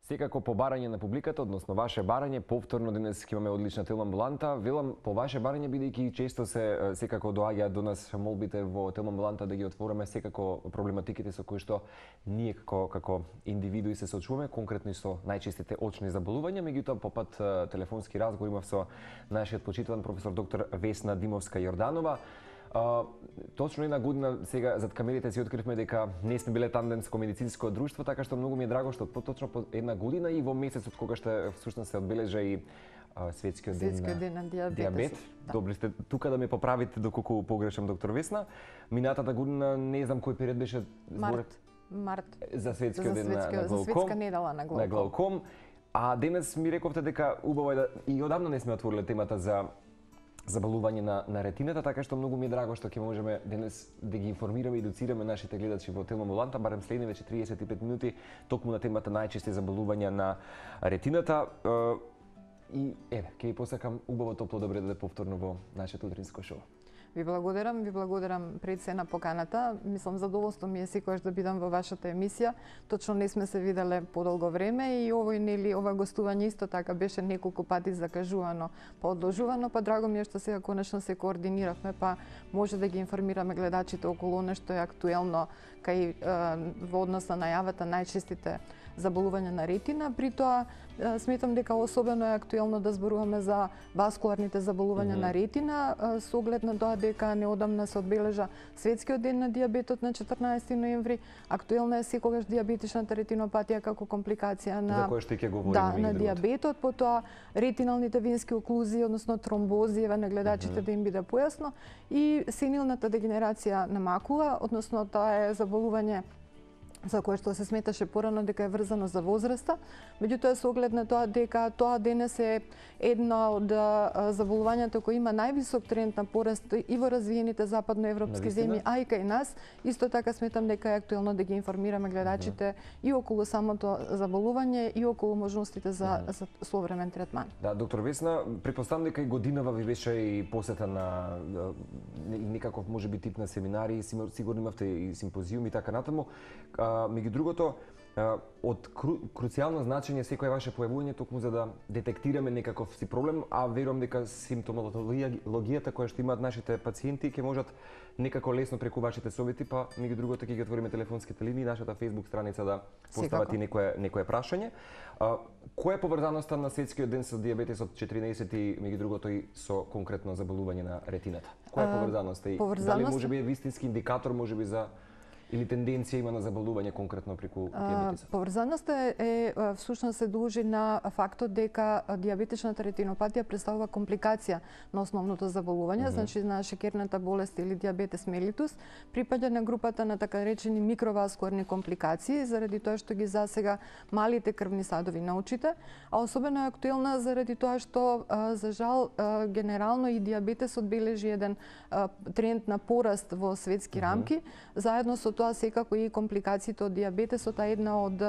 Секако по барање на публиката, односно ваше барање, повторно денес ќе имаме одлична телеамбуланта. Велам по ваше барање, бидејќи често се секако доаѓаат до нас молбите во телеамбуланта да ги отвориме секако проблематиките со кои што ние како индивидуи се соочуваме, конкретно и со најчестите очни заболувања. Меѓутоа по пат телефонски разговор имав со нашиот почитуван професор доктор Весна Димовска-Јорданова. Точно една година сега зад камерите си откривме дека не сме биле тандемско медицинско друштво, така што многу ми е драго што поточно по една година и во месецот кога што всушност се одбележа и светскиот ден на дијабет. Да. Добри сте тука да ме поправите доколку погрешам, доктор Весна. Минатата година не знам кој период беше март за светскиот ден на глауком. За светска недела на глауком. А денес ми рековте дека убаво е да и одамна не сме отвориле темата за заболување на ретината, така што многу ми е драго што ќе можеме денес да ги информираме и едуцираме нашите гледачи во телеамбуланта, барем следни веќе 35 минути, токму на темата најчести заболувања на ретината. И еве, ќе ви посакам убаво топло добре да повторно во нашето утринско шоу. Ви благодарам пред се на поканата. Мислам, задоволство ми е секогаш да бидам во вашата емисија. Точно не сме се виделе подолго време и ова гостување исто така беше неколку пати закажувано, одложувано, па драго ми е што сега конечно се координиравме, па може да ги информираме гледачите околу она што е актуелно кај во однос на најавата најчестите заболувања на ретина. При тоа сметам дека особено е актуелно да зборуваме за васкуларните заболувања на ретина, со оглед на тоа дека неодамна се одбележа светскиот ден на дијабетот на 14 ноември. Актуелна е секогаш дијабетичната ретинопатија како компликација на на дијабетот, потоа ретиналните венски оклузии, односно тромбози, еве на гледачите да им биде појасно, и сенилната дегенерација на макула, односно тоа е заболување за кое што се сметаше порано дека е врзано за возраста, меѓутоа со оглед на тоа дека тоа денес е една од заболувањата кои има највисок тренд на пораст и во развиените западноевропски земји, а и кај нас, исто така сметам дека е актуелно да ги информираме гледачите и околу самото заболување и околу можностите за современ третман. Да, доктор Весна, претпоставам дека и годинава ви беше и посета на некаков можеби тип на семинари, сигурно имавте и симпозиуми и така натаму. Меѓу другото, од круцијално значење секој ваше појавување токму за да детектираме некаков си проблем, а верувам дека симптомологијата која што имаат нашите пациенти ќе можат некако лесно преку вашите совети, па меѓу другото ќе ги отвориме телефонските линии, нашата Facebook страница да постават и некое прашање. Која е поврзаноста на светскиот ден со дијабетесот 14 и меѓу другото и со конкретно заболување на ретината? Која е поврзаноста и дали можеби е вистински индикатор можеби за или тенденција има на заболување конкретно преку дијабетесот? Поврзаноста всушност се дължи на фактот дека дијабетичната ретинопатија представува компликација на основното заболување, значи на шекерната болест или дијабетес мелитус, припаѓа на групата на така речени микроваскуларни компликации, заради тоа што ги засега малите крвни садови на очите, а особено е актуелна заради тоа што за жал генерално и дијабетесот бележи еден тренд на пораст во светски рамки, заедно со тоа секако и компликациите од дијабетесот, а една од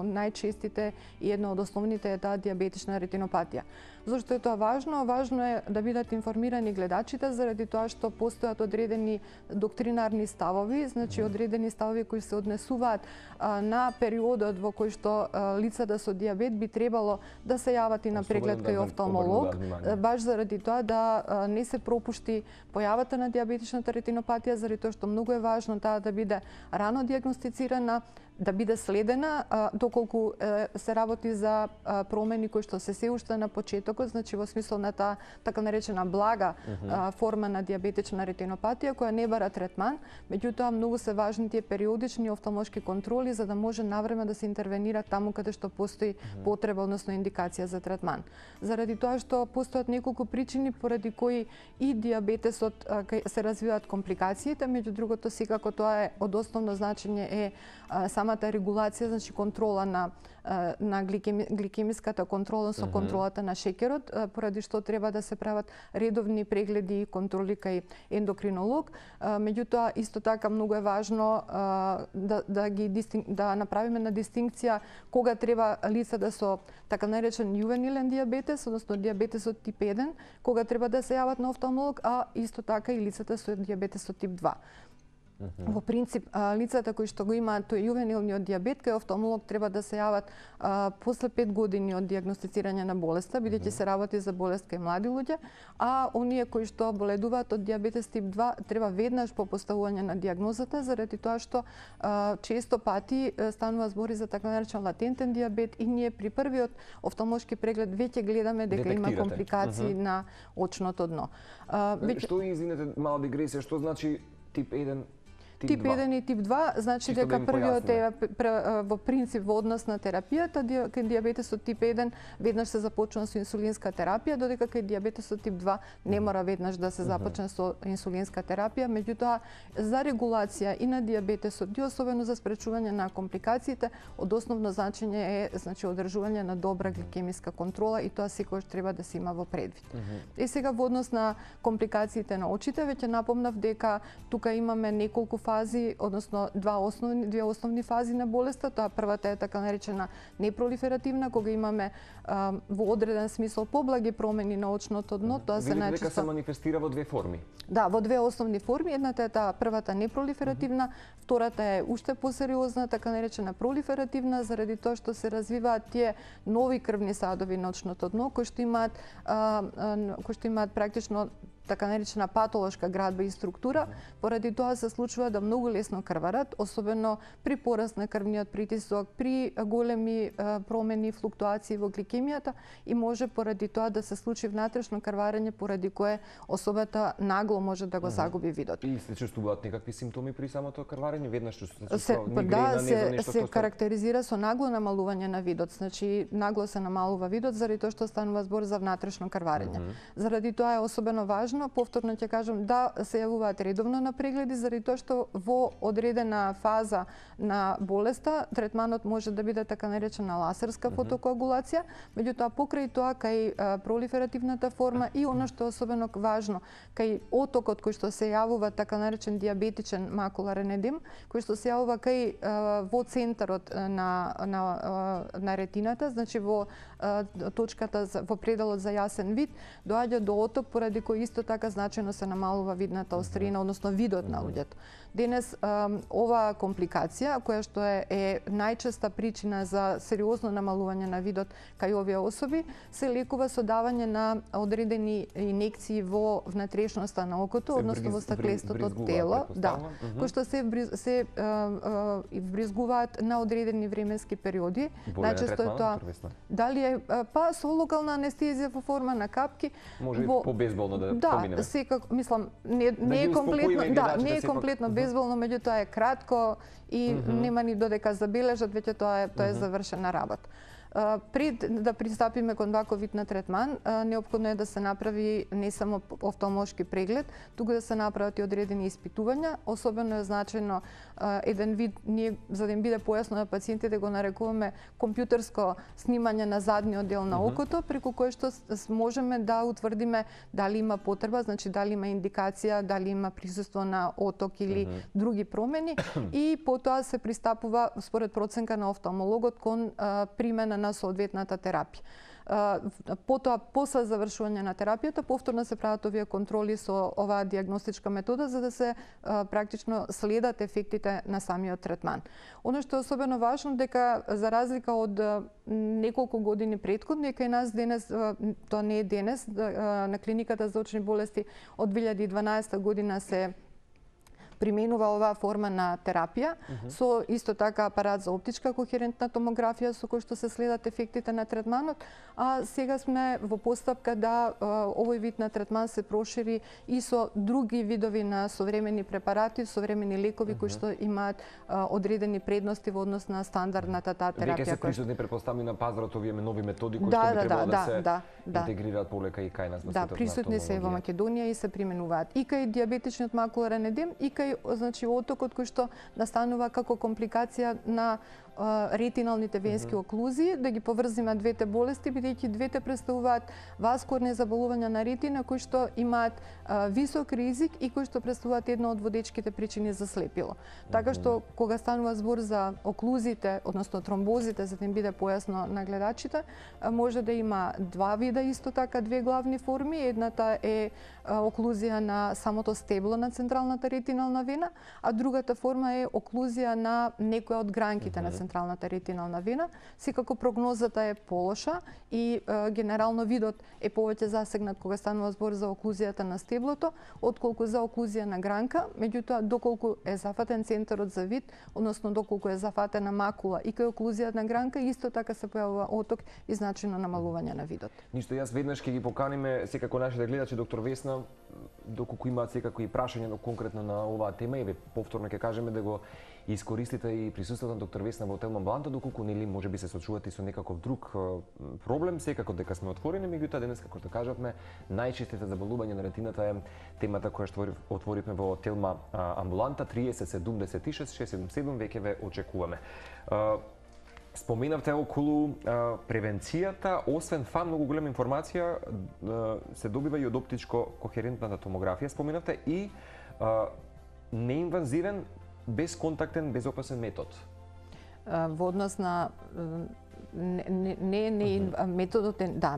најчестите и една од основните е таа дијабетична ретинопатија. Зошто е тоа важно? Важно е да бидат информирани гледачите заради тоа што постојат одредени доктринарни ставови, значи одредени ставови кои се однесуваат на периодот во кој што лицата со дијабет би требало да се јават и на преглед кај офталмолог, баш заради тоа да не се пропушти појавата на дијабетичната ретинопатија, заради тоа што многу е важно таа да биде рано дијагностицирана, да биде следена, доколку се работи за промени кои што се уште на почетокот, значи во смисла на таа така наречена блага форма на дијабетична ретинопатија која не бара третман, меѓутоа многу се важни тие периодични офталмолошки контроли за да може навреме да се интервенира таму каде што постои потреба, односно индикација за третман. Заради тоа што постојат неколку причини поради кои и дијабетесот се развиваат компликациите, меѓу другото секако тоа е од основно значење е самата регулација, значи контрола на гликемиската контрола со контролата на шекерот, поради што треба да се прават редовни прегледи и контроли кај ендокринолог. Меѓутоа исто така многу е важно да направиме на дистинкција кога треба лицата со така наречен јувенилен дијабетес, односно дијабетесот тип 1, кога треба да се јават на офталмолог, а исто така и лицата со дијабетесот тип 2. Во принцип, лицата кои што го имаат тој јувенилниот дијабет, кај офталмолог треба да се јават после 5 години од дијагностицирање на болеста, бидејќи се работи за болест кај млади луѓе, а оние кои што боледуваат од дијабетес тип 2 треба веднаш по поставување на дијагнозата, заради тоа што често пати станува збори за така наречен латентен дијабет и ние при првиот офталмолошки преглед веќе гледаме дека има компликации на очното дно. Што, извинете, мала дигресија, што значи тип 1? Тип 1 и тип 2, значи дека првиот е во принцип во однос на терапијата, кај дијабетесот тип 1 веднаш се започнува со инсулинска терапија, додека кај дијабетесот тип 2 не мора веднаш да се започне со инсулинска терапија, меѓутоа за регулација и на дијабетесот и особено за спречување на компликациите, од основно значење е значи одржување на добра гликемиска контрола и тоа секогаш треба да се има во предвид. И сега во однос на компликациите на очите, веќе напомнав дека тука имаме неколку фази, односно две основни фази на болеста. Тоа првата е така наречена непролиферативна, кога имаме во одреден смисол поблаги промени на очното дно, тоа се најчесто дека се манифестира во две форми. Да, во две основни форми. Едната е таа првата непролиферативна, втората е уште посериозна, така наречена пролиферативна, заради тоа што се развиваат тие нови крвни садови на очното дно кои што имаат практично така наречена патолошка градба и структура, поради тоа се случува да многу лесно крварат, особено при пораст на крвниот притисок, при големи промени, флуктуации во гликемијата и може поради тоа да се случи внатрешно крварење, поради кое особата нагло може да го загуби видот. И се чувствуваат некакви симптоми при самото крварење, веднаш се карактеризира со нагло намалување на видот, значи нагло се намалува видот заради тоа што станува збор за внатрешно крварење. Заради тоа е особено важно, повторно ќе кажам, да се јавуваат редовно на прегледи, заради тоа што во одредена фаза на болеста третманот може да биде така наречена ласерска фотокоагулација, меѓутоа покрај тоа кај пролиферативната форма и она што е особено важно, кај отокот кој што се јавува така наречен дијабетичен макуларен едем, кој што се јавува кај во центарот на ретината, значи во точката во пределот за јасен вид, доаѓа до оток поради кој исто така значајно се намалува видната острина, односно видот на луѓето. Денес оваа компликација, која што е најчеста причина за сериозно намалување на видот кај овие особи, се лекува со давање на одредени инекции во внатрешноста на окото, односно во стаклестото тело, кои што се вбризгуваат на одредени временски периоди. Најчесто е тоа дали е со локална анестезија во форма на капки, може побезболно да помине. Да, секако, мислам, не е комплетно, не е комплетно безболно, меѓутоа е кратко и нема ни додека забележат, веќе тоа е завршена работа. Пред да пристапиме кон ваков вид на третман, неопходно е да се направи не само офталмолошки преглед, туку да се направат и одредени испитувања. Особено е значајно еден вид, ние за да им биде појасно на пациентите го нарекуваме компјутерско снимање на задниот дел на окото, преку кое што можеме да утврдиме дали има потреба, значи дали има индикација, дали има присуство на оток или други промени и потоа се пристапува според проценка на офталмологот кон примена на соодветната терапија. Потоа, после завршување на терапијата, повторно се прават овие контроли со оваа дијагностичка метода за да се практично следат ефектите на самиот третман. Оно што е особено важно дека за разлика од неколку години претходно, кај нас денес, тоа не е денес, на клиниката за очни болести од 2012 година се применува оваа форма на терапија со исто така апарат за оптичка кохерентна томографија со кој што се следат ефектите на третманот, а сега сме во постапка да овој вид на третман се прошири и со други видови на современи препарати, современи лекови кои што имаат одредени предности во однос на стандардната таа терапија. Веќе се присутни претпостави на пазарот овие нови методи кои што би требало да се интегрираат полека и кај нас во светот на присутни се во Македонија и се применуваат и кај дијабетичниот макуларен едем и кај значи отокот кој што настанува како компликација на ретиналните венски оклузии, да ги поврзиме двете болести, бидејќи двете представуваат васкуларни заболувања на ретина кои што имаат висок ризик и кои што представуваат една од водечките причини за слепило. Така што кога станува збор за оклузите, односно тромбозите, за да им биде појасно на гледачите, може да има два вида исто така, две главни форми. Едната е оклузија на самото стебло на централната ретинална вена, а другата форма е оклузија на некоја од гранките на централната ретинална вена. Секако прогнозата е полоша и генерално видот е повеќе засегнат кога станува збор за оклузијата на стеблото, отколку за оклузија на гранка. Меѓутоа, доколку е зафатен центарот за вид, односно доколку е зафатена макула и кај оклузија на гранка, исто така се појавува оток и значајно намалување на видот. Ништо, јас веднаш ќе ги поканиме секако нашите гледачи, доктор Весна, доколку имаат секако и прашање конкретно на оваа тема, и повторно ќе кажеме да го искористите и присуството на доктор Весна во Телма Амбуланта, доколку нели можеби се сочувате со некаков друг проблем, секако дека сме отворени, меѓутоа денес, како што кажавме, најчестите заболувања на ретината е темата која што отворивме во Телма Амбуланта. 30 76 677 веќе ве очекуваме. Споменавте околу превенцијата, освен фа многу голема информација се добива и од оптичко-кохерентната томографија. Споменавте и неинвазивен, безконтактен, безопасен метод. Во однос на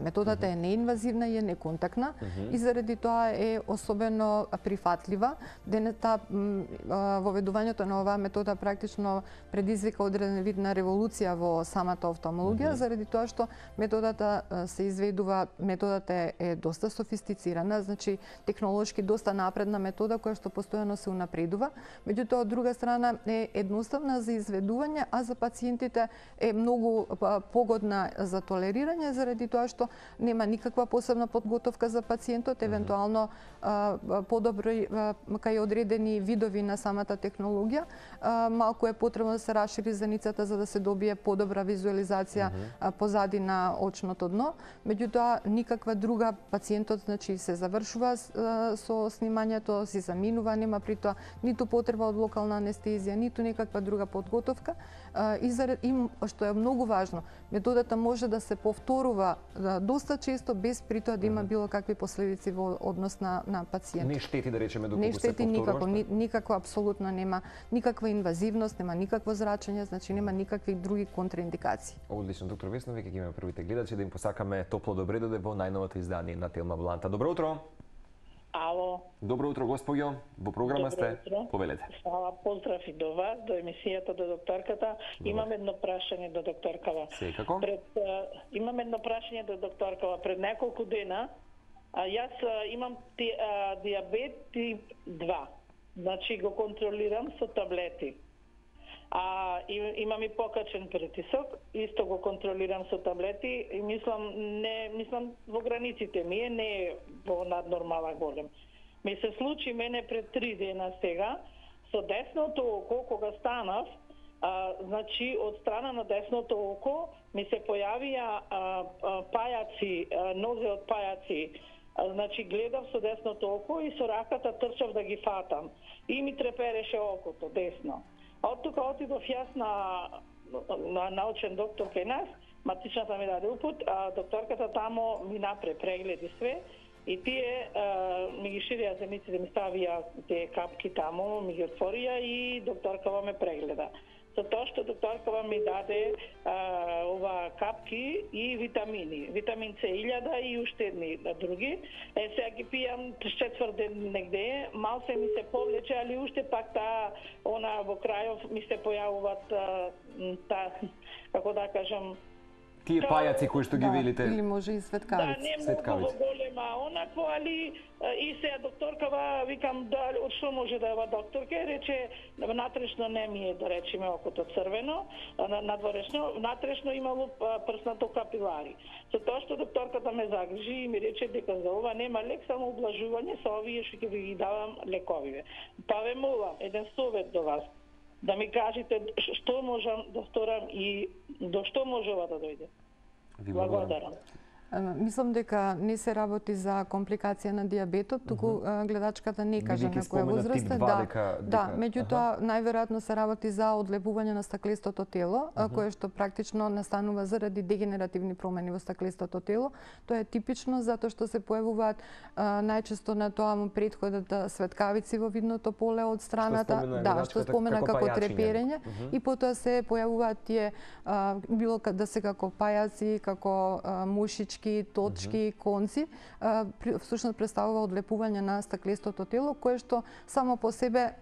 методата е неинвазивна и е неконтактна и заради тоа е особено прифатлива. Воведувањето на оваа метода практично предизвика одреден вид на револуција во самата офталмологија, заради тоа што методата се изведува, методата е доста софистицирана, значи технолошки доста напредна метода која што постојано се унапредува. Меѓутоа, од друга страна е едноставна за изведување, а за пациентите е многу погодна за толерирање, заради тоа што нема никаква посебна подготовка за пациентот, евентуално подобри кај одредени видови на самата технологија. Малку е потребно да се расшири заницата за да се добие подобра визуализација позади на очното дно. Меѓутоа, никаква друга, пациентот значи се завршува со снимањето, си заминува, нема при тоа ниту потреба од локална анестезија, ниту никаква друга подготовка. И што е многу важно, методата може да се повторува доста често без при тоа да има било какви последици во однос на пациентот. Не штети да речеме доколку не се штети повторува? никако, апсолутно нема никаква инвазивност, нема никакво зрачење, значи нема никакви други контраиндикации. Одлично, доктор Весна, веќе ги имаме првите гледачи, да им посакаме топло добре дојде во најновото издание на Телма Амбуланта. Добро утро. Ало. Добро утро, госпоѓо. Во програма сте. Повелете. Хвала, поздрав и до вас, до емисијата, до докторката. Имам едно прашање до докторкава. Секако. Имам едно прашање до докторкава. Пред неколку дена јас имам диабет тип 2. Значи го контролирам со таблети. Имам и покачен притисок, исто го контролирам со таблети и мислам во границите ми е, не е во наднормала голем. Ми се случи мене пред 3 дена сега, со десното око кога станав, значи од страна на десното око ми се појавија пајаци, нозе од пајаци. Значи гледав со десното око и со раката трчав да ги фатам. И ми трепереше окото десно. Од тука отидов јас на научен доктор кај нас, матичната ми даде упут, а докторката тамо ми напре прегледи све и тие ми ги ширија земиците, ми ставија тие капки тамо, ми ги отворија и докторкава ме прегледа. За тоа што докторкава ми даде ова капки и витамини. Витамин С 1000 и уште едни други. Сега ги пијам 3-4 ден негде, мал се ми се повлече, али уште пак во крајов ми се појавуваат како да кажам, Тие пајаци кои што ги велите. Или може и светкавици. Да, не многу голема онакво, али и сега докторкава, викам, од што може да е ова докторка, рече, натрешно не ми е, да речеме, окото црвено, надворешно, натрешно имало прснато капилари. За тоа што докторката ме загрижи и ми рече дека за ова нема лек, само облажување, со овие што ќе ви ги давам лековиве. Па ве молам, еден совет до вас, да ми кажете што можам да сторам и до што може ова да дојде. Ви благодарам. Мислам дека не се работи за компликација на дијабетот, туку гледачката не кажа на која возраст е. Да, меѓутоа најверојатно се работи за одлепување на стаклистото тело, кое што практично настанува заради дегенеративни промени во стаклистото тело. Тоа е типично затоа што се појавуваат најчесто на тоа му претходат светкавици во видното поле од страната, што спомена како треперење, и потоа се појавуваат тие било да се како пајаци, како мушички, точки, конци, всушност представува одлепување на стаклистото тело, кое што само по себе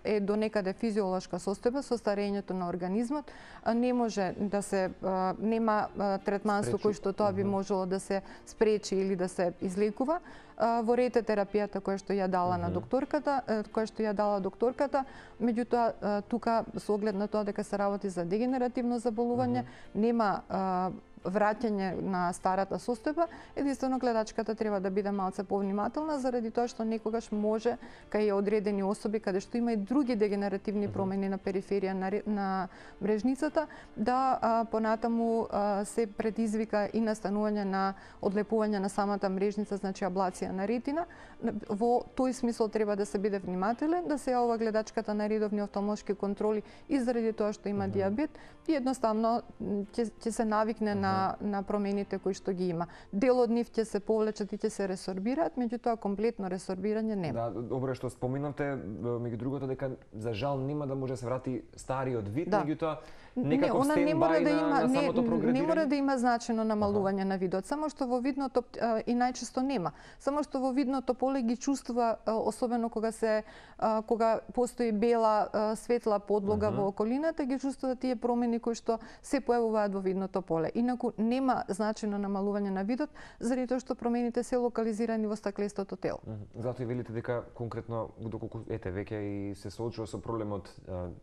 е до некаде физиолошка состојба со старењето на организмот, не може да се нема третман со кој што тоа би можело да се спречи или да се излекува. Во рететерапијата која што ја дала на докторката, меѓутоа тука со оглед на тоа дека се работи за дегенеративно заболување, нема враќање на старата состојба, единствено гледачката треба да биде малце повнимателна заради тоа што некогаш може кај одредени особи каде што има и други дегенеративни промени на периферија на мрежницата, да понатаму се предизвика и настанување на одлепување на самата мрежница, значи аблација на ретина. Во тој смисол треба да се биде внимателен, да се јавува гледачката на редовни офталмолошки контроли и заради тоа што има дијабет и едноставно ќе се навикне на промените кои што ги има. Дел од нив ќе се повлечат и ќе се ресорбираат, меѓутоа комплетно ресорбирање нема. Да, добро што споминавте, меѓу другото дека за жал нема да може да се врати стариот вид, меѓутоа некако стендбај на самото прогредирање. Не мора да има значајно намалување на видот, само што во видното и најчесто нема. Само што во видното поле ги чувствува, особено кога постои бела светла подлога во околината, ги чувствува тие промени кои што се појавуваат во видното поле. Инаку нема значајно намалување на видот, заради тоа што промените се локализирани во стаклистото тело. Затоа и велите дека конкретно доколку веќе и се соочува со проблемот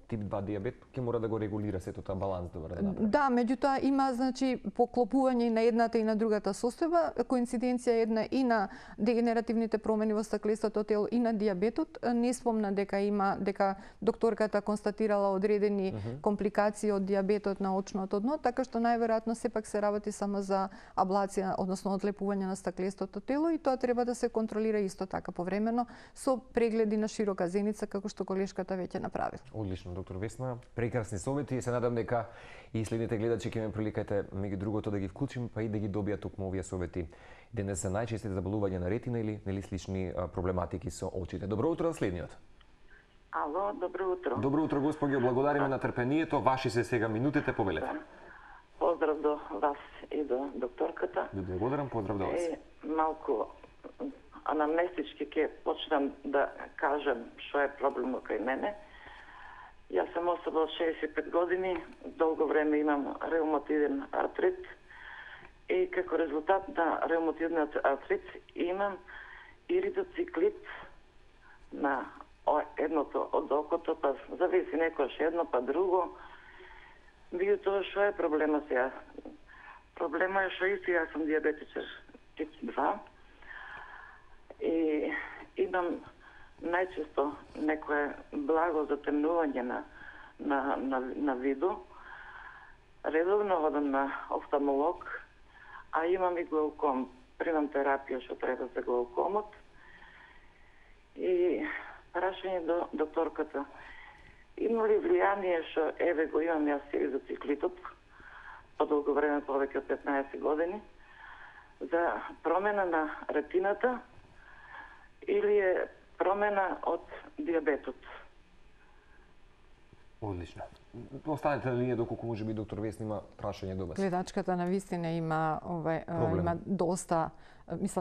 тип 2 дијабет, ќе мора да го регулира сето тоа баланс да направи. Да, меѓутоа има значи поклопување и на едната и на другата состојба, коинциденција една и на дегенеративните промени во стаклистото тело и на дијабетот. Не спомна дека докторката констатирала одредени компликации од дијабетот на очното дно, така што најверојатно сепак се работи само за аблација, односно одлепување на стаклистото тело, и тоа треба да се контролира исто така повремено со прегледи на широка зеница како што колешката веќе направи. Одлично, доктор Весна, прекрасни совети и се надам дека и следните гледачи ќе ме приликате меѓу другото да ги вклучим, па и да ги добијат токму овие совети. Денес се најчестите заболувања на ретина или слични проблематики со очите. Добро утро, следниот. Ало, добро утро. Добро утро, господи, благодариме на трпението. Ваши се сега минутите, повелете. Поздрав до вас и до докторката. Ви благодарам, поздрав до вас. Малку анамнестички ќе почнам да кажам што е проблемот кај мене. Јас сум особа од 65 години, долго време имам реуматиден артрит и како резултат на реуматидниот артрит имам иридоциклит на едното од окото, па зависи некојаш едно, па друго. Меѓутоа, што е проблема сега? Проблема е што и сега сум диабетичар тип 2 и имам најчесто некое благо затемнување на виду. Редовно одам на офталмолог, а имам и глауком. Примам терапија што треба за глаукомот. И прашање до докторката. Има ли влијание што еве го имам јас иридоциклитот по долго време, повеќе од 15 години, за промена на ретината или е промена од дијабетот? Одлично. Останете на линија доколку може би доктор Весна има прашање до вас. Гледачката навистина има доста,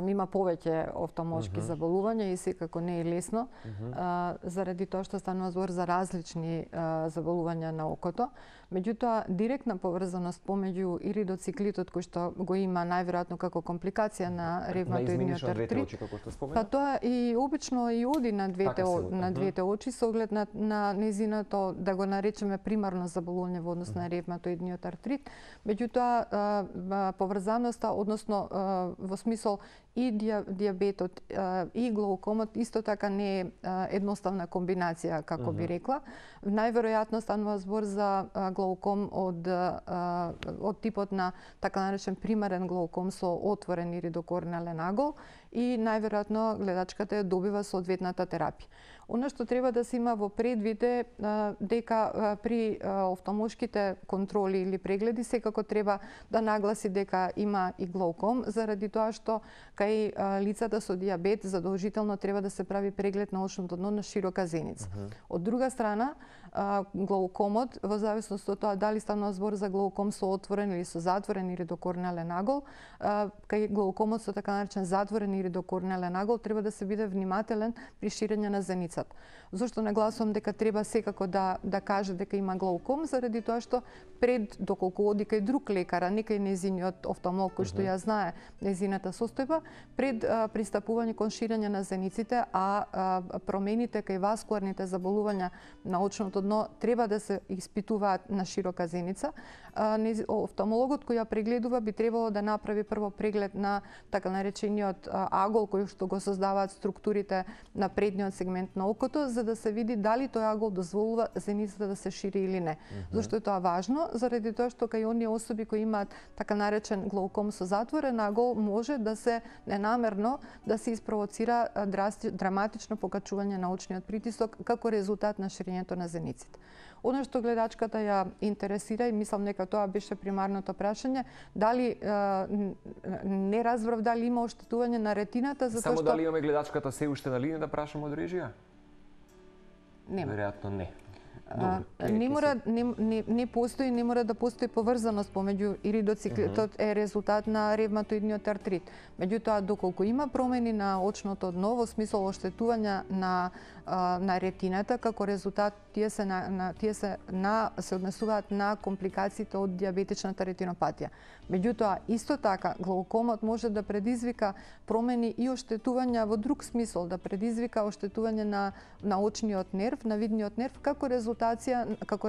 има повеќе офталмолошки заболувања и секако не е лесно, заради тоа што станува збор за различни заболувања на окото. Меѓутоа, директна поврзаност помеѓу иридоциклитот кој што го има најверојатно како компликација на ревматоидниот артрит, па тоа и обично и оди на двете очи со оглед на нејзиното, да го наречеме, примарно примарно заболување во однос на ревматоидниот артрит. Меѓутоа, поврзаноста, односно во смисол и дијабетот и глаукомот исто така не е едноставна комбинација, како би рекла. Најверојатно станува збор за глауком од типот на така наречен примарен глауком со отворен иридокорнеален агол и најверојатно гледачката ја добива соодветната терапија. Оно што треба да се има во предвид е дека при офталмолошките контроли или прегледи секако треба да нагласи дека има и глауком, заради тоа што кај лицата со дијабет задолжително треба да се прави преглед на очното дно на широка зеница. Од друга страна, глаукомот, во зависност од тоа дали станува збор за глауком со отворен или со затворен иридокорнеален агол, кај глаукомот со така наречен затворен иридокорнеален агол треба да се биде внимателен при ширење на зеницата. Зошто нагласувам дека треба секако да каже дека има глауком, заради тоа што пред доколку оди кај друг лекар, а не кај незиниот офталмолог кој што ја знае незината состојба, пред пристапување кон ширење на зениците, а промените кај васкуларните заболувања на очното дно треба да се испитуваат на широка зеница. Офталмологот кој ја прегледува би требало да направи прво преглед на така наречениот агол кој што го создаваат структурите на предниот сегмент на окото, за да се види дали тој агол дозволува зеницата да се шири или не. Зошто е тоа важно? Заради тоа што кај оние особи кои имаат така наречен глауком со затворен агол може да се ненамерно да се испровоцира драматично покачување на очниот притисок како резултат на ширењето на зениците. Оно што гледачката ја интересира и мислам дека тоа беше примарното прашање, дали не разбрав дали има оштетување на ретината затоа Само што дали имаме гледачката се уште на линија да прашаме од режија? нема. Веројатно не. Не постои, не мора да постои поврзаност помеѓу иридоциклетот е резултат на ревматоидниот артрит. Меѓутоа, доколку има промени на очното дно во смисол оштетување на ретината, како резултат тие се однесуваат на компликациите од дијабетичната ретинопатија. Меѓутоа, исто така, глаукомот може да предизвика промени и оштетувања во друг смисол, да предизвика оштетување на очниот нерв, на видниот нерв, како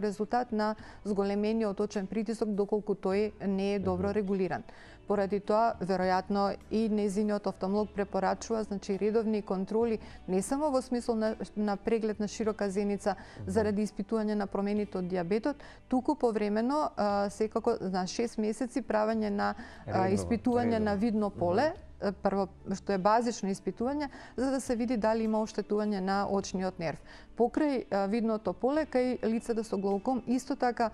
резултат на зголемениот очен притисок доколку тој не е добро регулиран. Поради тоа, веројатно и незиниот офталмолог препорачува редовни контроли не само во смисол на преглед на широка зеница заради испитување на промените од дијабетот, туку повремено секако на 6 месеци правење на испитување на видно поле, прво што е базично испитување, за да се види дали има оштетување на очниот нерв. Покрај видното поле, кај лицата со глауком, исто така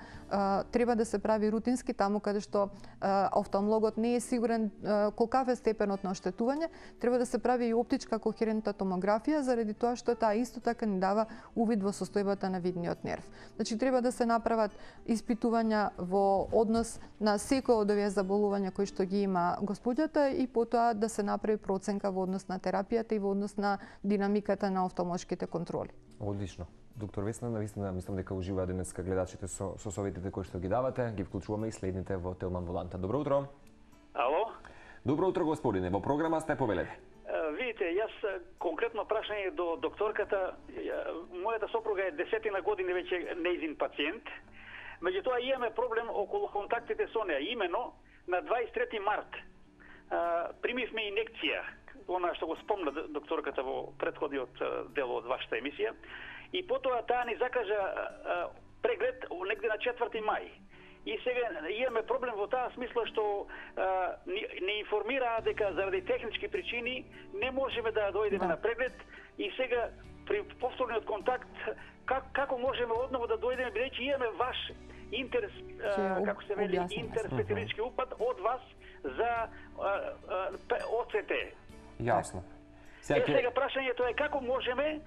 треба да се прави рутински таму каде што офталмологот не е сигурен колкав е степенот на оштетување, треба да се прави и оптичка кохерентна томографија, заради тоа што таа исто така ни дава увид во состојбата на видниот нерв. Значи, треба да се направат испитувања во однос на секој од овие заболувања кои што ги има господјата и потоа да се направи проценка во однос на терапијата и во однос на динамиката на офталмолошките контроли. Одлично. Доктор Весна, навистина мислам дека уживаа денеска гледачите со советите кои што ги давате. Ги вклучуваме и следните во Телман Воланта. Добро утро. Ало? Добро утро, господине. Во програма сте, повелете. Видите, јас конкретно прашање до докторката. Мојата сопруга е 10 години веќе нејзин пациент. Меѓутоа имаме проблем околу контактите со неа. Имено на 23 март примивме инекција, она што го спомна докторката во претходниот дел од вашата емисија, и потоа таа ни закажа преглед негде на 4 мај. И сега имаме проблем во таа смисла што не информираа дека заради технички причини не можеме да дојдеме на преглед и сега при повторниот контакт како можеме одново да дојдеме, бидејќи имаме ваш како се вели, интерспецијалистички упат од вас за ОЦТ. Јасно. Сега прашањето е како можеме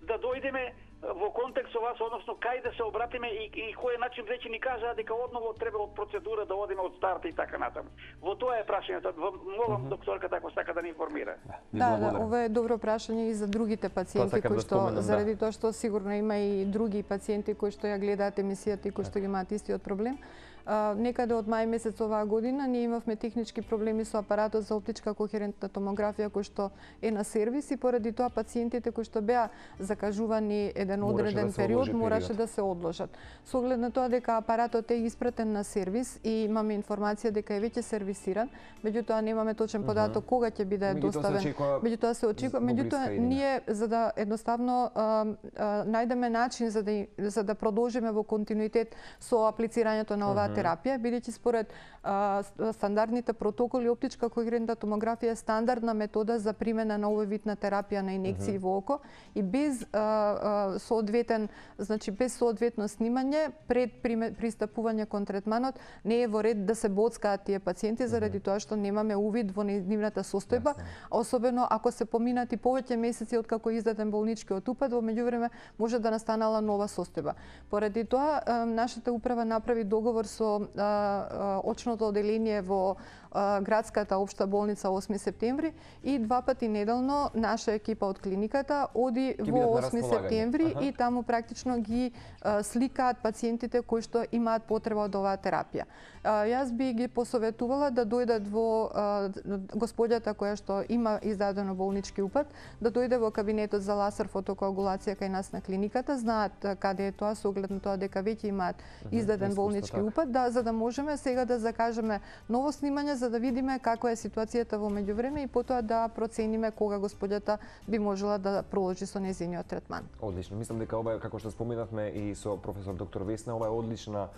да дојдеме во контекст со вас, односно кај да се обратиме и кој начин веќе ни кажаа дека одново треба од процедура да одиме од старт и така натаму. Во тоа е прашањето. Молам докторката ако сака да ни информира. Да, ова е добро прашање и за другите пациенти кои што заради тоа што сигурно има и други пациенти кои што ја гледаат емисијата и кои што ги имаат истиот проблем. Некаде од мај месец оваа година ние имавме технички проблеми со апаратот за оптичка кохерентна томографија кој што е на сервис и поради тоа пациентите кои што беа закажувани еден одреден период мораше да се одложат. Со оглед на тоа дека апаратот е испратен на сервис и имаме информација дека е веќе сервисиран, меѓутоа немаме точен податок кога ќе биде доставен. Меѓутоа се очекува, меѓутоа ние за да едноставно најдеме начин за да продолжиме во континуитет со аплицирањето на оваа терапија, бидејќи според стандардните протоколи оптичка кохерентна томографија е стандардна метода за примена на овој вид на терапија на инекции во око и без без соодветно снимање пред пристапување кон третманот не е во ред да се боцкаат тие пациенти заради тоа што немаме увид во нивната состојба, особено ако се поминати повеќе месеци откако издаден болничкиот упат, во меѓувреме може да настанала нова состојба. Поради тоа нашата управа направи договор со очното оделение во градската општа болница 8 септември и 2 пати неделно наша екипа од клиниката оди во 8 септември и таму практично ги сликаат пациентите кои што имаат потреба од оваа терапија. Јас би ги посоветувала да дојдат во господјата која што има издадено болнички упат, да дојде во кабинетот за лазер фотокоагулација кај нас на клиниката, знаат каде е тоа со оглед на тоа дека веќе имаат издаден болнички упат, за да можеме сега да закажеме ново снимање за да видиме каква е ситуацијата во меѓувреме и потоа да процениме кога господјата би можела да продолжи со нејзиниот третман. Одлично. Мислам дека ова е, како што споменавме и со професор доктор Весна, ова е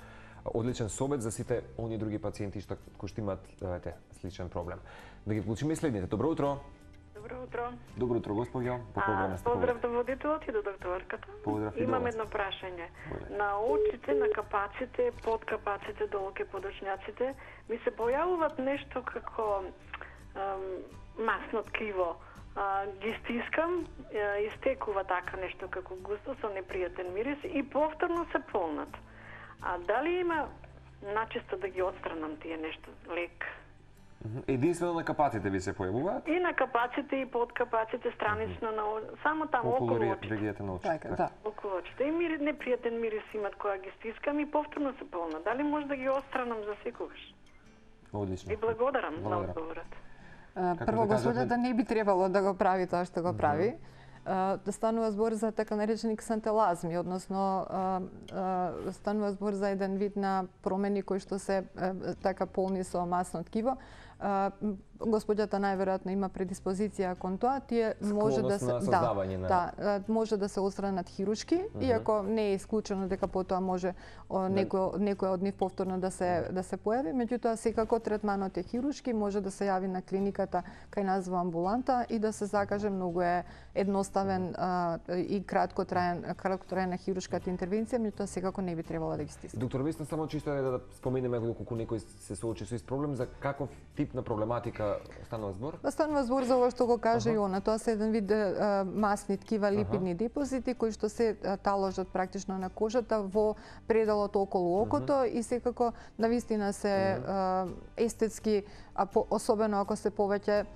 одличен совет за сите оние други пациенти кои што имаат сличен проблем. Да ги вклучиме следните. Добро утро. Добро утро. Добро утро, госпоѓо. По програма сте. Поздрав до водителот и до докторката. Имам едно прашање. На очите, на капаците, под капаците, долу ке подочњаците, ми се појавуваат нешто како масно ткиво. Ги стискам, истекува така нешто како густо со непријатен мирис и повторно се полнат. А дали има начисто да ги отстранам тие нешто лек? Единствено на капаците ви се појавуваат? И на капаците и под капаците, странично на само таму околу очите. Регијата на очите. Околу очите. И непријатен мирис имат кога ги стискам и повторно се полна. Дали може да ги отстранам за секогаш? Одлично. И благодарам на одговорот. Прво, господјата не би требало да го прави тоа што го прави. Да станува збор за така наречени ксантелазми, односно станува збор за еден вид на промени кои што се така полни со масно ткиво. Господјата најверојатно има предиспозиција кон тоа, тие може да се може да се отстранат хируршки, иако не е исклучено дека потоа може некој од нив повторно да се појави, меѓутоа секако третманот е хируршки, може да се јави на клиниката кај нас во амбуланта и да се закаже, многу е едноставен и краткотрајна хируршката интервенција, меѓутоа секако не би требало да ги стисне. Доктор Весна, само чисто да споменеме доколку некој се соочи со ист проблем, за каков тип на проблематика станува збор? Станува збор за ова што го каже и она. Тоа се еден вид масни ткива, липидни депозити кои што се таложат практично на кожата во пределот околу окото и секако навистина се естетски, особено ако се повеќе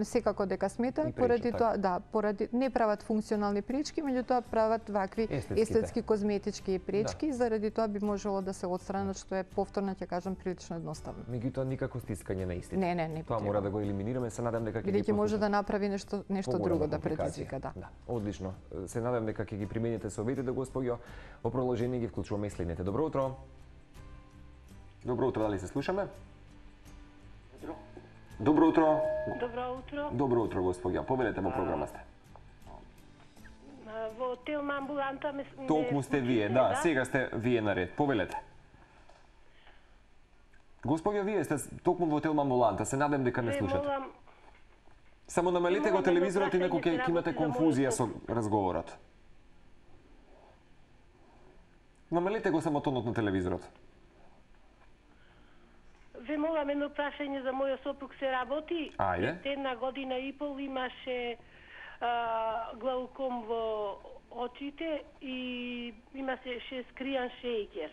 секако дека смета, поради тоа, поради не прават функционални пречки, меѓутоа прават вакви естетски козметички пречки, заради тоа би можело да се отстранат, што е повторно ќе кажам прилично едноставно. Меѓутоа никако стискање на истите. Не. Тоа мора да го елиминираме, се надам дека ќе може да направи нешто друго да предизвика, да. Одлично. Се надам дека ќе ги примените советите, господјо. Во продолжение ги вклучуваме и следните. Добро утро. Добро утро, дали се слушаме? Добро утро. Добро утро. Добро утро, господја. Повелете во програма сте. Во Телма амбуланта Толку сте вие, да, сега сте вие наред. Повелете. Господја, вие сте токму во Телма амбуланта, се надам дека не слушате. Само намалите го телевизорот, инаку ќе имате конфузија со разговорот. Намалите го само тонот на телевизорот. Ве молам едно прашање за мојот сопруг се работи. Ајде. Една година и пол имаше глауком во очите и имаше скријан шејкер.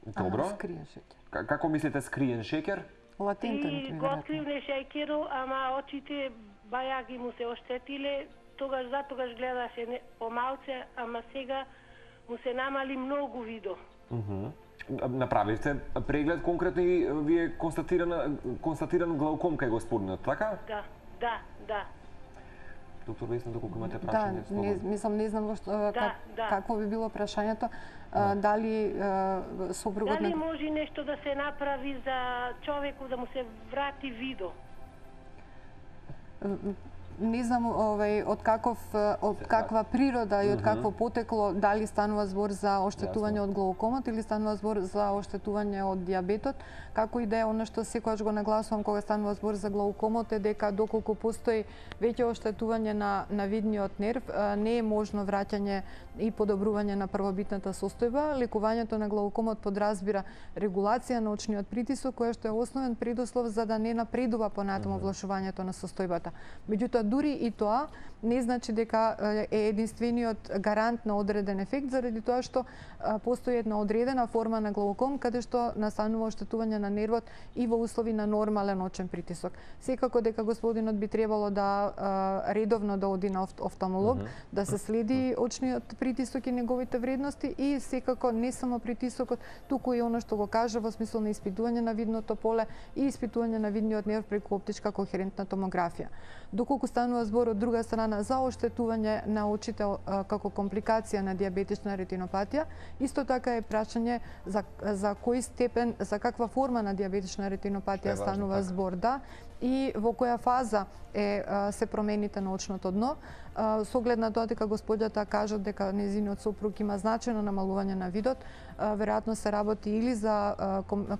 Добро. Скриен шеќер. Како мислите скриен шеќер? Латентен, и го откривне шеќерот, ама очите бајаги му се оштетиле, затогаш гледаше помалце, ама сега му се намали многу видо. направивте преглед конкретно и ви е констатиран глауком кај господинот, така? Да. Доктор Весна, доколку имате прашање? Не знам какво би било прашањето. Дали сопругот... Дали може нешто да се направи за човекот да му се врати видо? Не знам од каква природа и од какво потекло, дали станува збор за оштетување од глаукомот или станува збор за оштетување од дијабетот. Како и да е, она што секогаш го нагласувам кога станува збор за глаукомот е дека доколку постои веќе оштетување на видниот нерв, не е можно враќање и подобрување на првобитната состојба. Лекувањето на глаукомот подразбира регулација на очниот притисок, која што е основен предуслов за да не напредува понатаму влошувањето на состојбата. Меѓутоа, дури и тоа не значи дека е единствениот гарант на одреден ефект, заради тоа што постои една одредена форма на глауком каде што настанува оштетување на нервот и во услови на нормален очен притисок. Секако дека господинот би требало да редовно да оди на офталмолог, да се следи очниот притисок и неговите вредности и секако не само притисокот, туку и оно што го кажа во смисол на испитување на видното поле и испитување на видниот нерв преку оптичка кохерентна томографија. Доколку станува збор од друга страна за оштетување на очите како компликација на дијабетична ретинопатија, исто така е прашање за кој степен, за каква форма на дијабетична ретинопатија станува збор, и во која фаза се промените на очното дно. Со оглед на тоа дека господјата кажа дека нејзиниот сопруг има значајно намалување на видот, веројатно се работи или за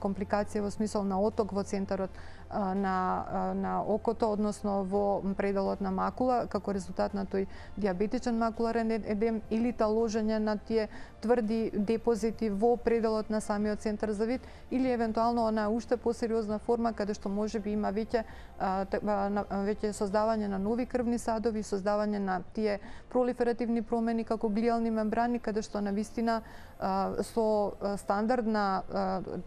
компликација во смисол на оток во центарот на окото, односно во пределот на макула, како резултат на тој дијабетичен макуларен едем, или таложење на тие тврди депозити во пределот на самиот центар за вид, или евентуално она уште посериозна форма каде што можеби има веќе создавање на нови крвни садови, создавање на тие пролиферативни промени како глијални мембрани, каде што навистина со стандардна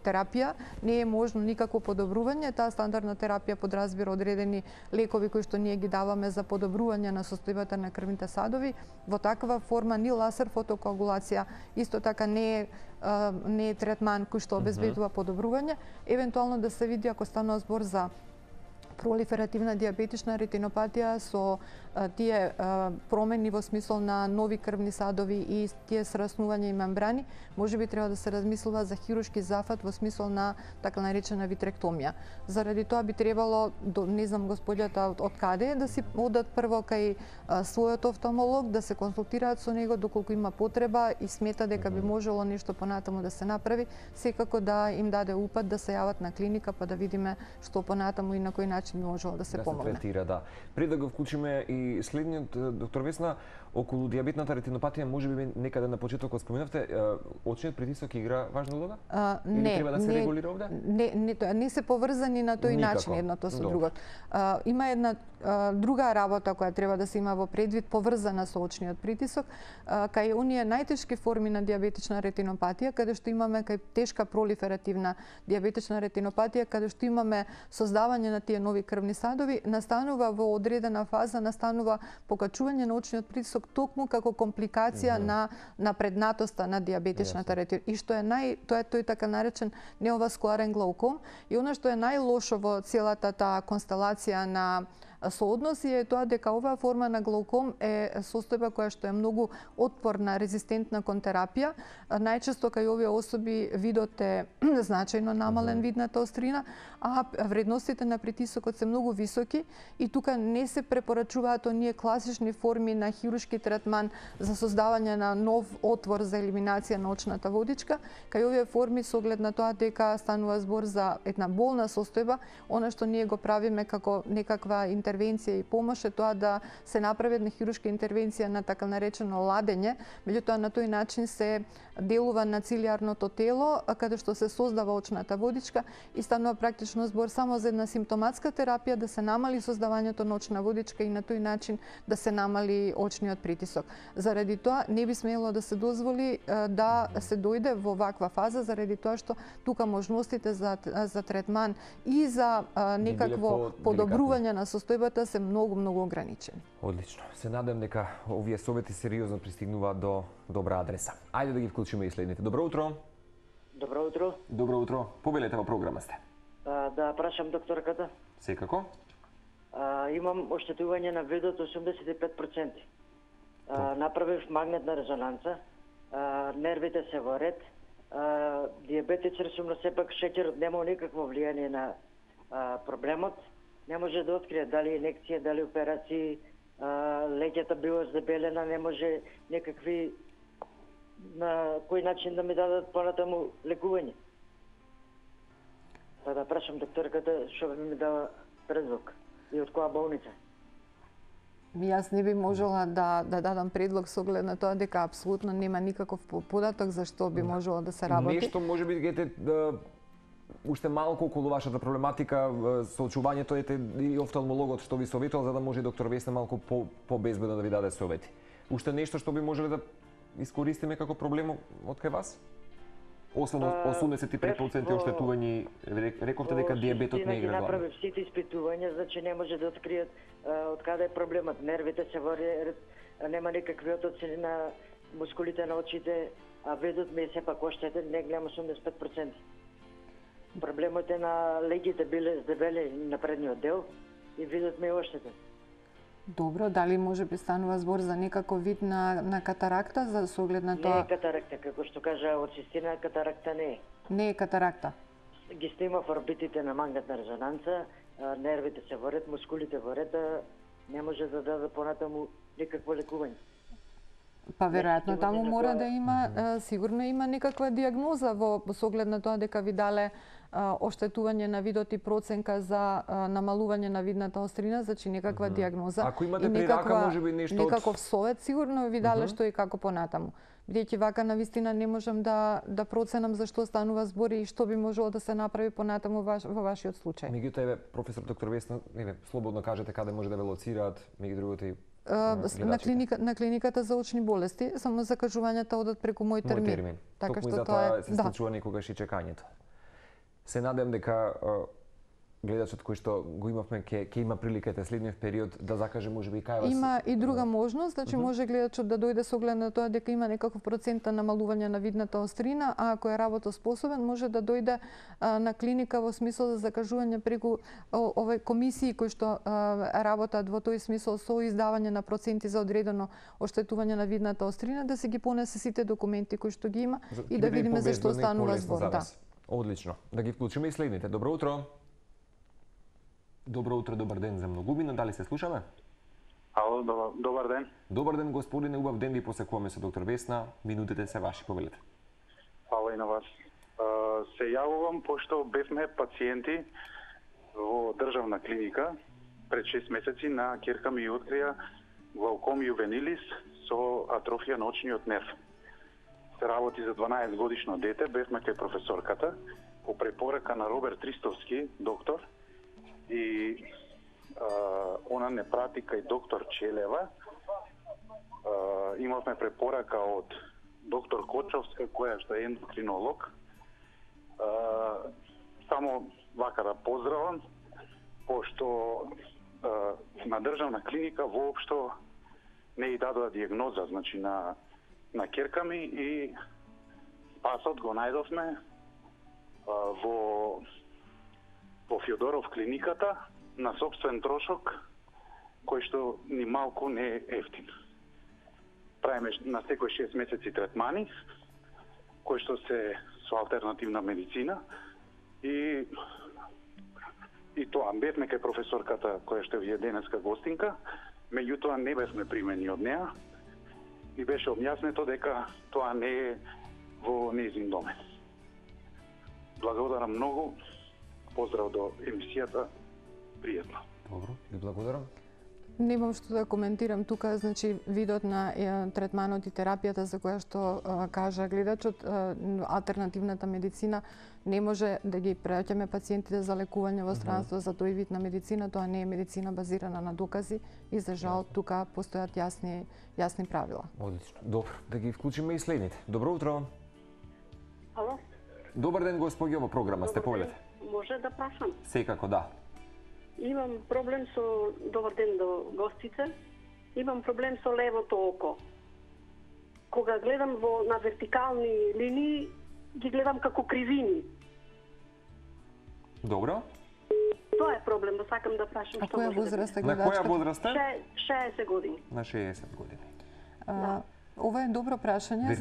терапија не е можно никакво подобрување. Таа стандардна терапија подразбира одредени лекови кои што ние ги даваме за подобрување на состојбата на крвните садови. Во таква форма ни лазер фотокоагулација исто така не е третман кој што обезбедува подобрување. Евентуално да се види ако станува збор за пролиферативна дијабетична ретинопатија со тие промени во смисол на нови крвни садови и тие сраснувања и мембрани, можеби треба да се размислува за хируршки зафат во смисол на така наречена витректомија. Заради тоа би требало, не знам господјата од каде, да си одат прво кај својот офталмолог, да се консултираат со него доколку има потреба и смета дека би можело нешто понатаму да се направи, секако да им даде упат да се јават на клиника па да видиме што понатаму и на кој начин би можело да се помогне. Да се третира, Пред да го вклучиме и следниот, доктор Весна, околу дијабетната ретинопатија, можеби некаде на почетокот споменавте, очниот притисок игра важна улога? Или треба да се регулира овде? Не се поврзани на тој начин едното со другото. Има една друга работа која треба да се има во предвид, поврзана со очниот притисок, кај оние најтешки форми на дијабетична ретинопатија, каде што имаме кај тешка пролиферативна дијабетична ретинопатија, каде што имаме создавање на тие нови крвни садови, настанува во одредена фаза, настанува покачување на очниот притисок токму како компликација на напреднатоста на дијабетичната ретинопатија. И што е тој така наречен неоваскуларен глауком, и она што е најлошо во целата таа констелација на соодноси е тоа дека оваа форма на глауком е состојба која што е многу отпорна, резистентна кон терапија. Најчесто кај овие особи видот е значајно намален видната острина, а вредностите на притисокот се многу високи и тука не се препорачуваат оние класични форми на хируршки третман за создавање на нов отвор за елиминација на очната водичка. Кај овие форми со оглед на тоа дека станува збор за една болна состојба, она што ние го правиме како некаква интервенција и помош е тоа да се направи една хируршка интервенција на така наречено ладење, меѓутоа на тој начин се делува на цилиарното тело, каде што се создава очната водичка и станува практично збор само за една симптоматска терапија да се намали создавањето на очна водичка и на тој начин да се намали очниот притисок. Заради тоа не би смело да се дозволи да се дојде во ваква фаза, заради тоа што тука можностите за третман и за некакво подобрување на состојбата се многу ограничени. Одлично. Се надевам дека овие совети сериозно пристигнуваат до добра адреса. Ајде да ги вклучиме и следните. Добро утро. Добро утро. Добро утро. Побелете во програма сте. Да прашам докторката. Секако. Имам оштетување на видот 85%. Направив магнетна резонанца. Нервите се во ред. Диабетичар сум, но сепак шеќерот нема никакво влијание на проблемот. Не може да открие дали инекција, дали операции, леќата била здебелена, не може некакви на кој начин да ми дадат понатаму лекување. Па да прашам докторката што би ми дава предлог и од која болница. Јас не би можела да дадам предлог со оглед на тоа дека апсолутно нема никаков податок за што би можело да се работи. Нешто може би гете уште малку околу вашата проблематика, соочувањето ете и офталмологот што ви советувал за да може доктор Весна малку по-безбедно да ви даде совети. Уште нешто што би можеле да искористиме како проблем од кај вас? Освен 85% оштетување, рековте дека диабетот не игра главна. Направив сите испитувања, значи не може да откријат од каде е проблемот. Нервите се во ред, нема никакви отоци на мускулите на очите, а видот ми е сепак оштетен, не гледам 85%. Проблемот е на легите биле здебели на предниот дел и видот ми е оштетен. Добро, дали може би станува збор за некаков вид на катаракта за со оглед на тоа? Не е катаракта, како што кажа од систина, катаракта не е. Не е катаракта. Ги снима в орбитите на магнетна резонанца, нервите се во ред, мускулите во ред, не може да даде понатаму никакво лекување. Па веројатно таму мора да има, сигурно има некаква диагноза со оглед на тоа дека ви дале оштетување на видот и проценка за намалување на видната острина, значи некаква диагноза. Ако имате при рака, може би нешто некаков совет сигурно ви дале што и како понатаму. Бидејќи вака навистина не можам да проценам за што станува збор и што би можело да се направи понатаму во вашиот случај. Меѓутоа, еве, професор доктор Весна, слободно кажете каде може да ве лоцираат, меѓу другото и на клиниката за очни болести, само закажувањата одат преку мој термин. Така што тоа се случува некогаш и чекањето. Се надевам дека гледачот кој што го имавме ќе има прилика следниот период да закаже можеби и кај вас. Има и друга можност, значи може гледачот да дојде со оглед на тоа дека има некаков процент на намалување на видната острина, а ако е работоспособен може да дојде на клиника во смисол за закажување преку овој комисии кои што работат во тој смисол со издавање на проценти за одредено оштетување на видната острина, да се ги понесе сите документи кои што ги има и да видиме за што станува збор. Одлично. Да ги вклучиме и следните. Добро утро. Добро утро, добар ден за многумина. Дали се слушаме? Ало, добар ден. Добар ден, господине, убав ден ви посекуваме со доктор Весна. Минутите се ваши, повелете. Фала и на вас. Се јавувам пошто бевме пациенти во државна клиника пред 6 месеци на ќерка ми открија глауком јувенилис со атрофија на очниот нерв. Се работи за 12 годишно дете, бевме кај професорката по препорака на Роберт Ристовски, доктор, и она не прати кај доктор Челева. Имавме препорака од доктор Кочовска, која што е ендокринолог. Само вака да поздравам, пошто на државна клиника воопшто не и дадоа диагноза, значи на ќерка ми, и спасот го најдовме во Фјодоров клиниката на сопствен трошок, кој што ни малку не е ефтин. Правиме на секој 6 месеци третмани, кои што се со алтернативна медицина, и тоа бевме кај професорката која што ви е денеска гостинка, меѓутоа не бевме примени од неа и беше објаснето дека тоа не е во нејзин домен. Благодарам многу. Поздрав до емисијата. Пријатно. Добро, ви благодарам. Немам што да коментирам тука, значи видот на третманот и терапијата за која што кажа гледачот, алтернативната медицина не може да ги преоќаме пациентите за лекување во странство за тој вид на медицина, тоа не е медицина базирана на докази и за жал тука постојат јасни правила. Одлично. Добро, да ги вклучиме и следните. Добро утро. Ало. Добар ден, господи, ова програма сте, повелете. Може да прашам? Секако, да. Имам проблем со, добар ден до гостите, имам проблем со левото око. Кога гледам на вертикални линии, ги гледам како кривини. Добро. Тоа е проблем, да сакам да прашам што може да биде. На која возраст е? 60 години. На 60 години. Ова е добро прашање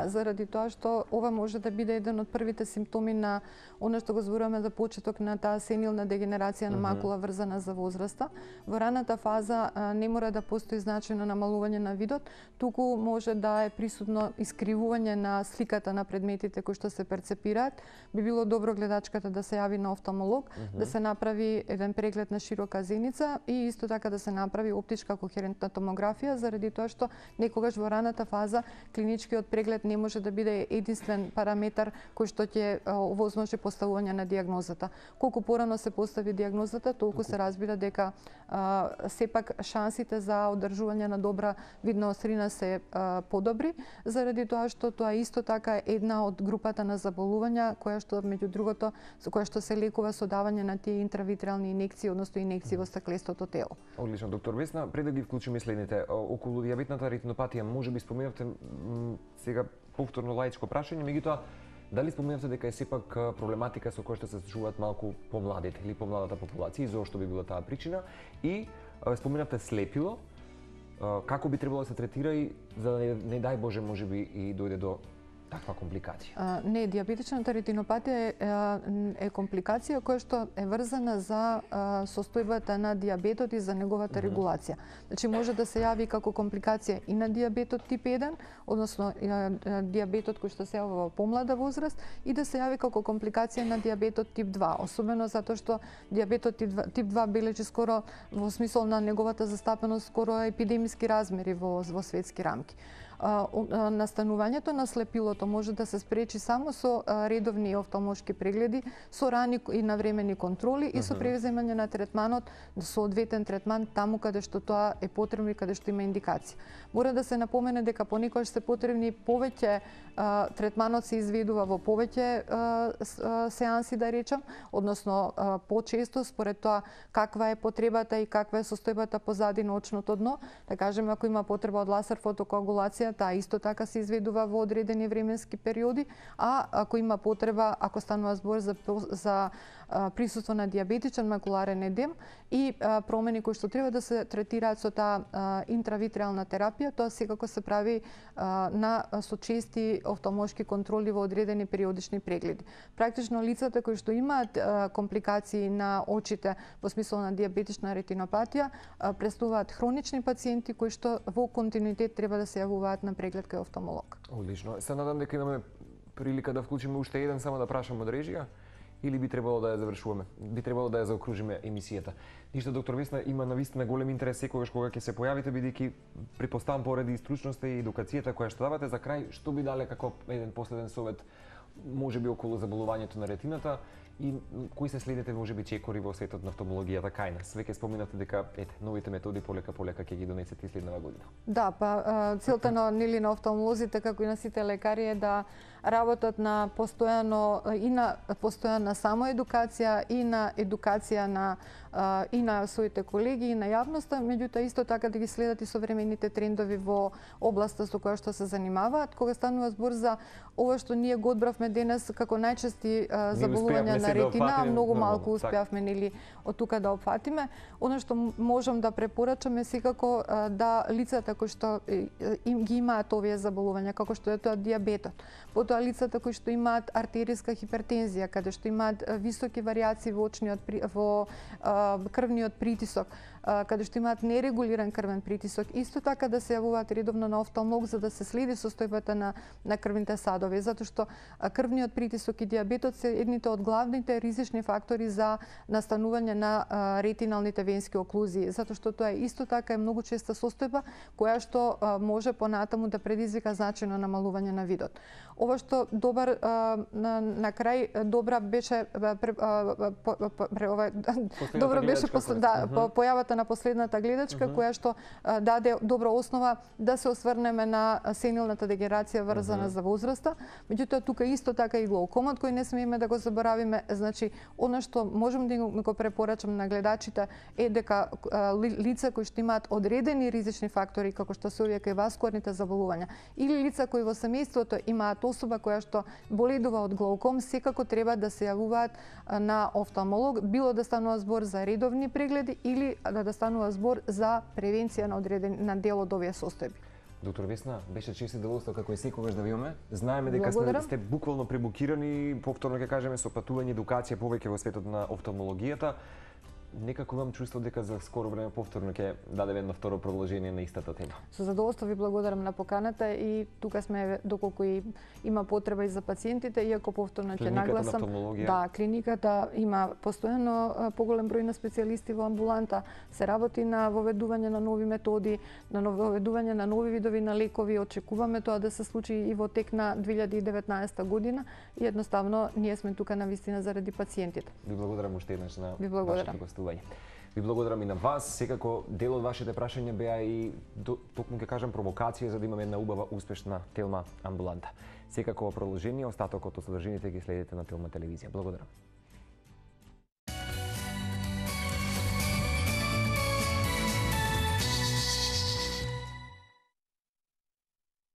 заради тоа што ова може да биде еден од првите симптоми на она што го зборуваме за почеток на таа сенилна дегенерација на макула врзана за возраста. Во раната фаза не мора да постои значајно намалување на видот, туку може да е присутно искривување на сликата на предметите кои што се перцепираат. Би било добро гледачката да се јави на офталмолог, да се направи еден преглед на широка зеница и исто така да се направи оптичка кохерентна томографија, заради тоа што некогаш во раната фаза клиничкиот преглед не може да биде единствен параметар кој што ќе овозможи поставување на дијагнозата. Колку порано се постави дијагнозата, толку се разбира дека сепак шансите за одржување на добра видна острина се подобри, заради тоа што тоа исто така е една од групата на заболувања која што меѓу другото која што се лекува со давање на тие интравитрални инекции, односно инекции во стаклестото тело. Одлично, доктор Весна, пред да ги вклучиме следните околу дијабетната ретинопатија, може би споменавте сега повторно лаичко прашање, меѓутоа дали споменавте дека е сепак проблематика со која што се случуваат малку помладите или помладата популација и зошто би била таа причина, и споменавте слепило, како би требало да се третира и за да не дај Боже можеби и дојде до таква компликација? Не, дијабетичната ретинопатија е компликација која што е врзана за состојбата на дијабетот и за неговата регулација. Значи може да се јави како компликација и на дијабетот тип 1, односно дијабетот кој што се јавува во помлада возраст, и да се јави како компликација на дијабетот тип 2, особено затоа што дијабетот тип 2 бележи скоро во смисол на неговата застапеност скоро епидемиски размери во светски рамки. Настанувањето на слепилото може да се спречи само со редовни офталмолшки прегледи, со рани и навремени контроли и со превземање на третманот, соодветен третман таму каде што тоа е потребно и каде што има индикација. Мора да се напомене дека понекогаш се потребни повеќе третманот се изведува во повеќе сеанси, да речам, односно почесто според тоа каква е потребата и каква е состојбата позади на очното дно. Да кажеме, ако има потреба од лазер фотокоагулација, таа исто така се изведува во одредени временски периоди, а ако има потреба, ако станува збор за присуство на дијабетичен макуларен едем и промени кои што треба да се третираат со таа интравитреална терапија, тоа секако се прави со чести офталмолшки контроли во одредени периодични прегледи. Практично лицата кои што имаат компликации на очите во смисол на дијабетична ретинопатија представуваат хронични пациенти кои што во континуитет треба да се јавуваат на преглед кај офталмолог. Одлично. Се надам дека имаме прилика да вклучиме уште еден, само да прашам од режија, или би требало да ја завршуваме? Би требало да ја заокружиме емисијата. Ништо, доктор Весна, има навистина голем интерес секогаш кога ќе се појавите, бидејќи претпоставам поради стручноста и едукацијата која што давате. За крај, што би дале како еден последен совет, можеби околу заболувањето на ретината и кои се следните можеби чекори во светот на офталмологијата кај нас? Веќе споминавте дека новите методи полека ќе ги донесете и следнава година. Да, целта на офталмолозите како и на сите лекари е да работат на постојана самоедукација и на едукација и на своите колеги и на јавноста, меѓутоа исто така да ги следат и современите трендови во областа со која што се занимаваат. Кога станува збор за ова што ние го одбравме денес како најчести заболувања на ретина, многу малку успеавме нели од тука да опфатиме. Она што можам да препорачам е секако да лицата кои што ги имаат овие заболувања, како што е тоа дијабетот, потоа лицата кои што имаат артериска хипертензија, каде што имаат високи варијации во крвниот притисок, каде што имаат нерегулиран крвен притисок, исто така да се јавуваат редовно на офталмолог за да се следи состојбата на крвните садови, затоа што крвниот притисок и дијабетот се едните од главните ризични фактори за настанување на ретиналните венски оклузии, затоа што тоа исто така е многу честа состојба која што може понатаму да предизвика значајно намалување на видот. Ова што на крај добра беше појавата на последната гледачка која што даде добра основа да се осврнеме на сенилната дегенерација врзана за возраста. Меѓутоа тука исто така и глаукомот кој не смееме да го заборавиме. Значи, она што можам да го препорачам на гледачите е дека лица кои што имаат одредени ризични фактори како што се овие васкуларните заболувања или лица кои во семејството имаат особа која што боледува од глауком, секако треба да се јавуваат на офталмолог, било да станува збор за редовни прегледи или да станува збор за превенција на дел од овие состојби. Доктор Весна, беше чест и задоволство како и секогаш да ви имаме. Знаеме дека сте буквално пребукирани, повторно ќе кажеме, со патување, едукација повеќе во светот на офталмологијата. Некако имам чувство дека за скоро време повторно ќе дадеме едно второ продолжение на истата тема. Со задоволство ви благодарам на поканата и тука сме доколку и има потреба и за пациентите, иако повторно ќе нагласам. Да, клиниката има постојано поголем број на специјалисти во амбуланта, се работи на воведување на нови методи, на воведување на нови видови на лекови. Очекуваме тоа да се случи и во тек на 2019 година и едноставно ние сме тука на вистина заради пациентите. Ви благодарам уште еднаш на вашето гостување. Ви благодарам и на вас. Секако дел од вашите прашања беа и токму ќе кажам провокација за да имаме една убава успешна Телма амбуланта. Секако продолжение, остатокот од содржините ги следите на Телма телевизија. Благодарам.